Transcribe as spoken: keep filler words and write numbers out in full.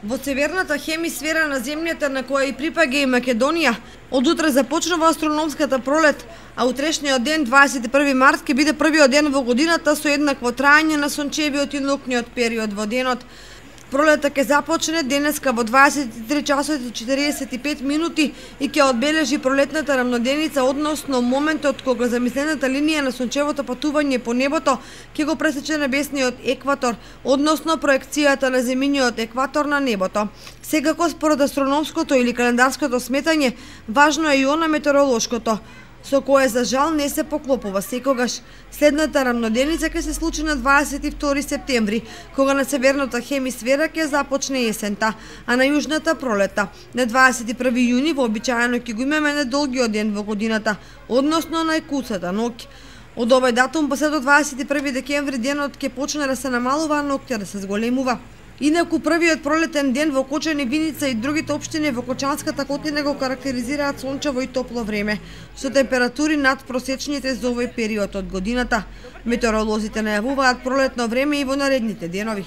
Во северната хемисфера на земјата, на која и припаѓа и Македонија, од утре започнува астрономската пролет, а утрешниот ден, дваесет и први март, ќе биде првиот ден во годината со еднакво траење на сончевиот и ноќниот период во денот. Пролета ќе започне денеска во дваесет и три часот и четиридесет и пет минути и ќе одбележи пролетната рамноденица, односно моментот кога замислената линија на сончевото патување по небото ќе го пресече небесниот екватор, односно проекцијата на земјиниот екватор на небото. Секако според астрономското или календарското сметање, важно е и она метеоролошкото, со кое за жал не се поклопува секогаш. Следната рамноденица ќе се случи на дваесет и втори септември, кога на северната хемисфера ќе започне есента, а на јужната пролета. На дваесет и први јуни вообичаено ќе го имаме најдолгиот ден во годината, односно најкуцата ноќ. Од овој датум па се до дваесет и први декември денот ќе почне да се намалува, а ноќта да се зголемува. Инаку првиот пролетен ден во Кочани, Виница и другите општини во Кочанската котлина го карактеризираат сончево и топло време, со температури над просечните за овој период од годината. Метеоролозите најавуваат пролетно време и во наредните денови.